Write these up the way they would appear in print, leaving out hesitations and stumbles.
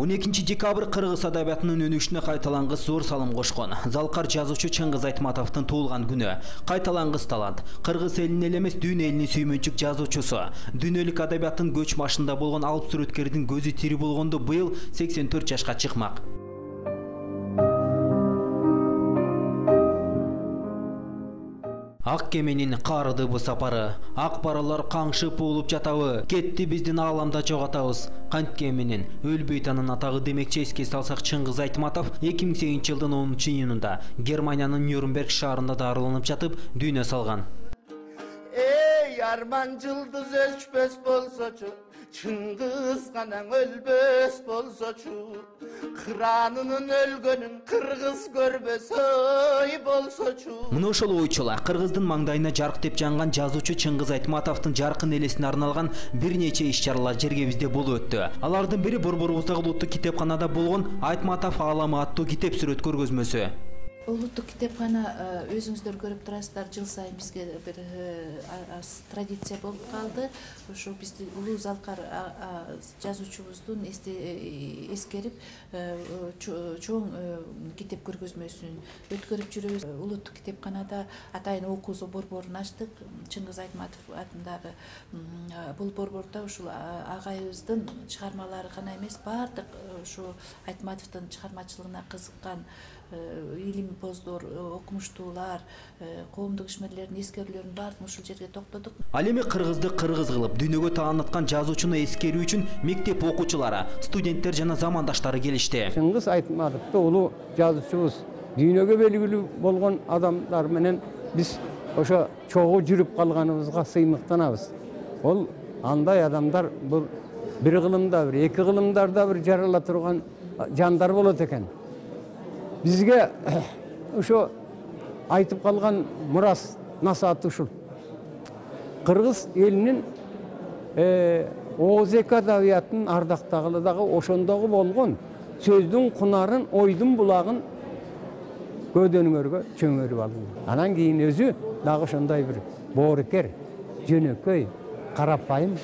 12-декабрь кыргыз адабиятынын өнүгүшүнө кайталангыс зор салым кошкон. Залкар жазуучу Чыңгыз Айтматовдун туулган күнү. Кайталангыс талант. Кыргыз элинин эле эмес, дүйнө элинин сүймөнчүк жазуучусу. Дүйнөлүк адабияттын көч башында болгон алып сүрөткердин көзү тири болгондо быйыл 84 жашка чыкмак. Ак кеменин карыды бу сапары, ак баралар каңшып уулуп жатабы, кетти биздин ааламда жоготабыз. Кантке менен өлбөйт анын атагы демекчи эске салсак, Чыңгыз Айтматов 2008 жылдын 10-июнунда Германиянын Нюрнберг шаарында дарыланып жатып дүйнө салган. Эй, арман жылдыз өчпөс болсочу, Чыңгыз канаң өлбөс болсочу, кыранынын өлгөнүн кыргыз көрбөс ой болсочу. Мына ошол ойчула кыргыздын маңдайына жарк деп жанган жазуучу Чыңгыз Айтматовдун жаркын элесине арналган бир нече иш-чаралар жергебизде болуп өттү. Алардын бири Борборубуздагы улуттук китепканада болгон Айтматов ааламы аттуу китеп сүрөт көргөзмөсү. Улуттук китепкана өзүңүздөр көрүп турасыздар, жыл сайын бизге бир традиция болуп калды. Ошо бизди улуу Залкар жазуучубуздун эскерип чоң китеп көргөзмөсүн өткөрүп жүрөбүз. Улуттук китепканада атайын окуусу борборун ачтык. Чыңгыз Айтматов атындагы бул борбордо ушул агайыбыздын чыгармалары гана эмес, баардык ушу Айтматовдун чыгармачылыгына кызыккан илимпоздор, окумуштуулар, коомдук ишмерлердин эскерүүлөрүн баардыгын ушул жерге токтодук. Ал эми кыргызды кыргыз кылып дүйнөгө тааныткан жазуучуну эскерүү үчүн мектеп окуучулары, студенттер жана замандаштары келишти. Чыңгыз Айтматовду улуу жазуучубуз, дүйнөгө белгилүү болгон адамдар менен биз ошо чогуу жүрүп калганыбызга сыймыктанабыз. Ол андай адамдар бул бир кылымда, бир эки кылымдарда бир жарала турган жандар болот экен. Бизге ошо айтып калган мурас насааты ушул. Кыргыз элинин ооз-эки адабиятын ардактагылы дагы ошондогу болгон сөздүн кунарын, ойдун булагын көдөнүңөргө чөңөрүп алды. Анан кийин өзү дагы ошондой бир боорукер, жөнөкөй, карапайым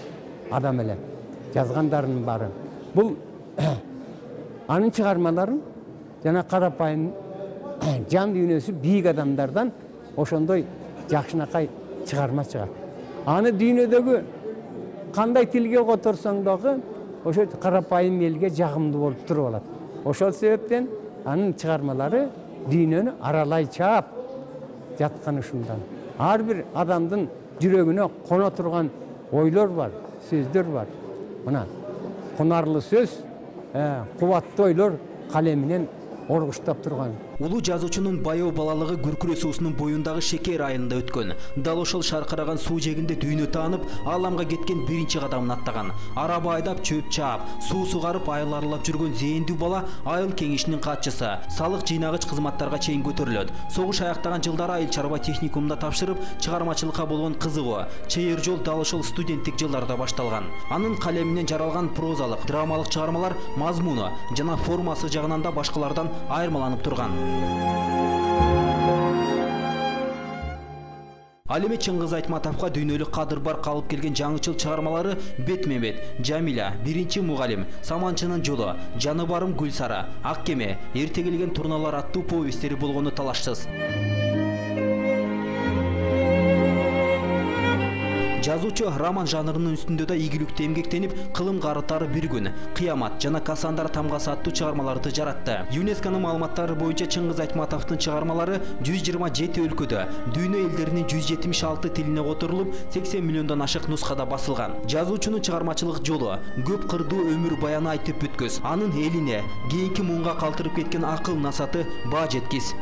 адам эле жазгандарынын баары. Бул анын чыгармаларын жана карапайым жан дүйнөсү бийик адамдардан ошондой жакшынакай чыгарма чыгат. Аны дүйнөдөгү кандай тилге которсоң дагы ошо карапайым элге жагымдуу болуп туруп алат. Ошол себептен анын чыгармалары дүйнөнү аралай чаап жаткан ушундан. Ар бир адамдын жүрөгүнө коно турган ойлор бар, сөздөр бар. Мына кунарлы сөз, кубаттуу ойлор калеминен оргуштап турган. Улуу жазуучунун баяу балалыгы Күркүрө суусунун боюндагы Шекер айында өткөн. Дал ошол шаркыраган суу жегинде дүйнө таанып, ааламга кеткен биринчи кадамын аттаган. Араба айдап, чөп чаап, суу сугарып, айыл аралап жүргөн зээндүү бала айыл кеңешинин катчысы, салык жыйнагыч кызматтарга чейин көтөрүлөт. Согуш аяктаган жылдары айыл чарба техникумунда тапшырып, чыгармачылыкка болгон кызыгуу, чейир жол дал ошол студенттик жылдарда башталган. Анын калеминен жаралган прозалык, драмалык чыгармалар мазмуну жана формасы жагынан да башкалардан айырмаланып турган. Ал эми Чыңгыз Айтматовго дүйнөлүк кадыр бар калып келген жаңычыл чыгармалары Бетме-бет, Жамиля, Биринчи мугалим, Саманчынын жолу, Жаны барым Гүлсара, Ак кеме, Эрте келген турналар аттуу повесттери болгону талашсыз. Жазуучу роман жанрынын үстүндө да ийгиликтүү эмгектенип, Кылым карытары бир күн, Кыямат жана Касандар тамгасы аттуу чыгармаларды жаратты. ЮНЕСКОнун маалыматтары боюнча Чыңгыз Айтматовдун чыгармалары 127 өлкөдө, дүйнө элдеринин 176 тилине которулуп, 80 миллиондон ашык нускада басылган. Жазуучунун чыгармачылык жолу көп кырдуу өмүр баяны айтып бүткөс. Анын элине, кийинки муунга калтырып кеткен акыл насааты баа жеткис.